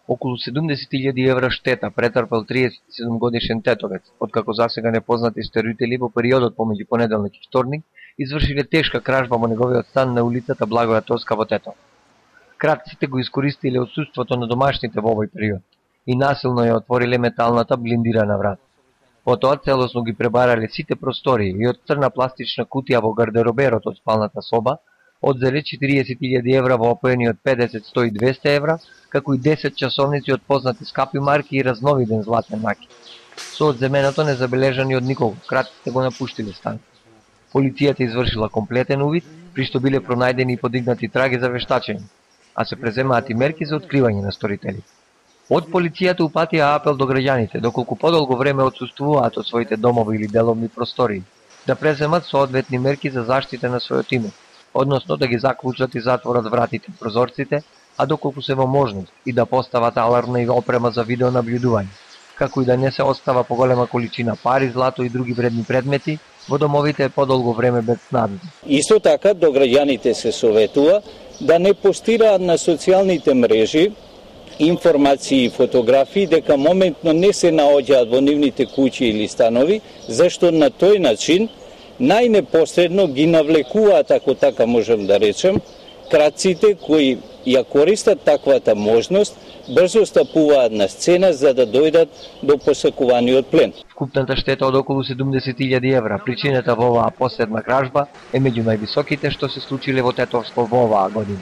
Околу 70.000 евра штета претрпел 37-годишен тетовец, откако засега непознати стојители во периодот помеѓу понеделник и вторник извршиле тешка кражба во неговиот стан на улицата Благоја Тоска во Тетово. Кратците го искористиле отсуството на домашните во овој период и насилно ја отвориле металната блиндирана врата. Потоа целосно ги пребарале сите простории и од црна пластична кутија во гардероберот од спалната соба одзеле 40.000 евра во опоени од 50, 100 и 200 евра, како и 10 часовници од познати скапи марки и разновиден златен маки. Со одземеното не забележани од никого, кратците го напуштиле станот. Полицијата извршила комплетен увид, при што биле пронајдени и подигнати траги за вештачење, а се преземаат и мерки за откривање на сторителите. Од полицијата упатија апел до граѓаните, доколку подолго време отсуствуваат од своите домови или деловни простории, да преземат соодветни мерки за заштита на својот имот, односно да ги заклучат и затворат вратите, прозорците, а доколку се во можност и да постават алармна и опрема за видеонаблюдување, како и да не се остава поголема количина пари, злато и други вредни предмети во домовите подолго време без снадни. Исто така до граѓаните се советува да не постираат на социјалните мрежи информации и фотографии дека моментно не се наоѓаат во нивните куќи или станови, зашто на тој начин најнепосредно ги навлекуваат, ако така можем да речем, кратците кои ја користат таквата можност, брзо стапуваат на сцена за да дојдат до посакуваниот плен. Вкупната штета од околу 70.000 евра, причината во оваа последна кражба, е меѓу највисоките што се случиле во Тетовско во оваа година.